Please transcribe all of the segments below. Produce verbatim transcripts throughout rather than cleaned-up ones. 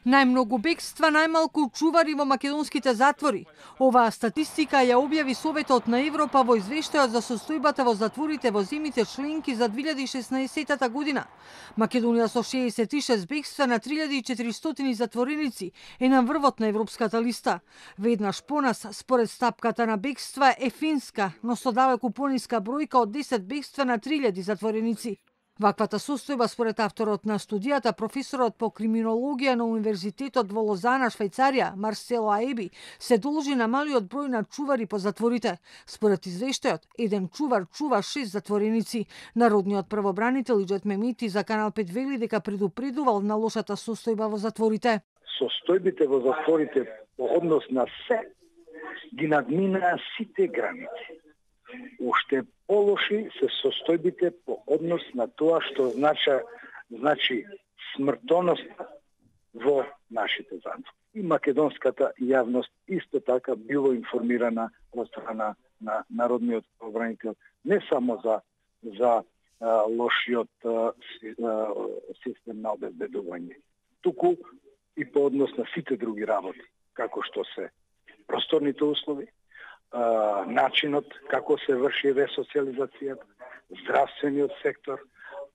Најмногу бегства, најмалку чувари во македонските затвори. Оваа статистика ја објави Советот на Европа во извештајот за состојбата во затворите во земјите членки за две илјади и шеснаесетта година. Македонија со шеесет и шест бегства на три илјади и четиристотини затвореници е на врвот на европската листа. Веднаш понас, според стапката на бегства, е Финска, но со далеку пониска бројка од десет бегства на три илјади затвореници. Ваквата состојба, според авторот на студијата, професорот по криминологија на Универзитетот во Лозана, Швајцарија, Марсело Аеби, се должи на малиот број на чувари по затворите. Според извештајот, еден чувар чува шест затвореници. Народниот правобранител Иџет Мемити за Канал пет вели дека предупредувал на лошата состојба во затворите. Состојбите во затворите по однос на се ги надминаа сите граници. Уште полоши се состојбите по однос на тоа што значи, значи смртоност во нашите затвори. И македонската јавност исто така било информирана од страна на народниот правобранител не само за за а, лошиот а, систем на обезбедување, туку и по однос на сите други работи, како што се просторните услови, начинот како се врши ресоциализацијата, здравствениот сектор,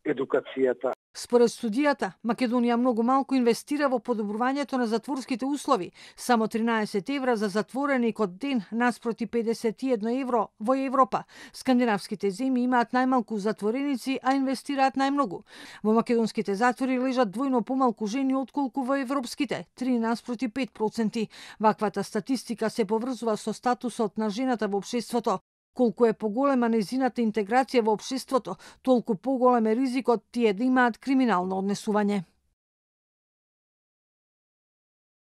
едукацијата. Според студијата, Македонија многу малку инвестира во подобрувањето на затворските услови, само тринаесет евра за затвореник од ден наспроти педесет и едно евро во Европа. Скандинавските земји имаат најмалку затвореници, а инвестираат најмногу. Во македонските затвори лежат двојно помалку жени отколку во европските, три наспроти пет проценти. Ваквата статистика се поврзува со статусот на жената во општеството. Колку е поголема незината интеграција во општеството, толку поголем е ризикот тие да имаат криминално однесување.